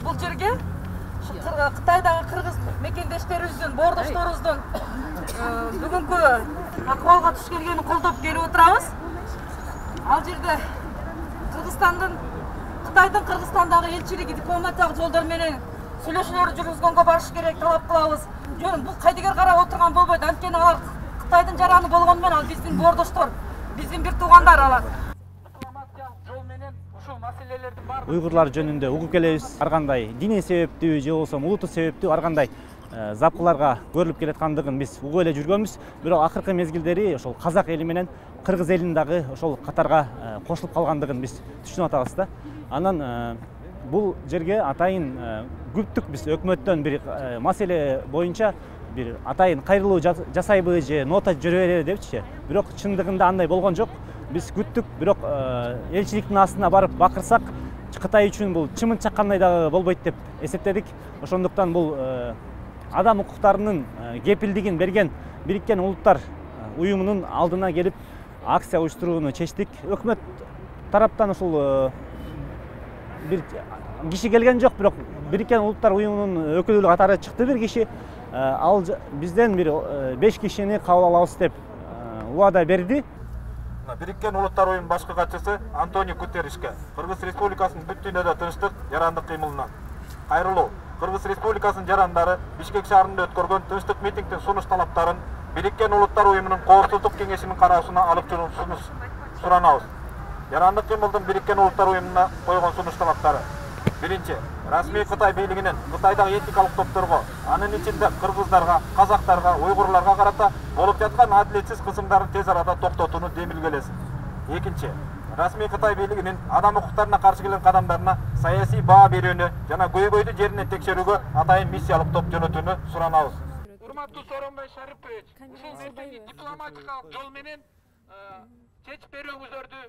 бул жерге Кытайдагы кыргыз мекендештерибиздин, боордошторубуздун бүгүнкү акыбалга туш келгенин колдоп келип отурабыз. Ал жерде Кытайдын Кыргызстандагы элчилиги дипломатиялык жолдор менен сүйлөшүүлөрдү жүргүзгөнгө барыш керек, талап кылабыз. Жөн бул кайдыгер карап отурган болбойт. Анткени алар Кытайдын жараны болгону менен ал биздин боордоштор, биздин бир туугандар алар. Уйгурлар жөнүндө угуп келебиз. Ар кандай диний себептүү же болбосо улуттук себептүү ар кандай запкыларга көрүлүп келаткандыгын биз угуп эле жүргөнбүз. Бирок акыркы мезгилдери ошол казак эли менен кыргыз элинин дагы ошол катарга кошулуп калгандыгын биз түшүнүп атабыз да. Анан бул жерге атайын күптүк биз өкмөттөн бир маселе боюнча бир атайын кайрылуу жасайбы же нота жиберели депчи. Бирок чындыгында андай болгон жок. Биз күттүк, бирок элчиликтин астына барып бакырсак, Кытай үчүн бул чымын чаккандай дагы болбойт деп эсептедик. Ошондуктан бул адам укуктарынын кепилдигин берген Бириккен Улуттар уюмунун алдына келип акция уюштурууну чечтик. Өкмөт тараптан ушул бир киши келген жок, бирок Бириккен Улуттар уюмунун өкүлү катары чыкты бир киши. Ал бизден бир 5 кишини кабыл алабыз деп убада берди. Бириккен Улуттар уюмунун башкы катчысы Антонио Гутерришке Кыргыз Республикасынын бүт дүйнөдө тынчтык, жарандык кыймылынан кайрылуу. Кыргыз Республикасынын жарандары Бишкек шаарында өткөргөн тынчтык митингдин сунуш талаптарын Бириккен Улуттар уюмунун Коопсуздук кеңешинин кароосуна алып чыгуусун суранабыз. Жарандык кыймылдын Бириккен Улуттар уюмуна койгон сунуш талаптары: биринчи, расмий Кытай бийлигинин Кытайдагы этникалык топторго, анын ичинде кыргыздарга, казактарга, уйгурларга карата болуп жаткан адилетсиз кысымдарын тез арада токтотууну демилгелесин. Экинчи, расмий Кытай бийлигинин адам укуктарына каршы келген кадамдарына саясий баа берүүнү жана көйгөйдү жеринен текшерүүгө атайын миссиялык топ жөнөтүүнү суранабыз. Урматтуу Сооронбай Шарипович, ушул нерсени дипломатикалык жол менен чечип берүүңүздөрдү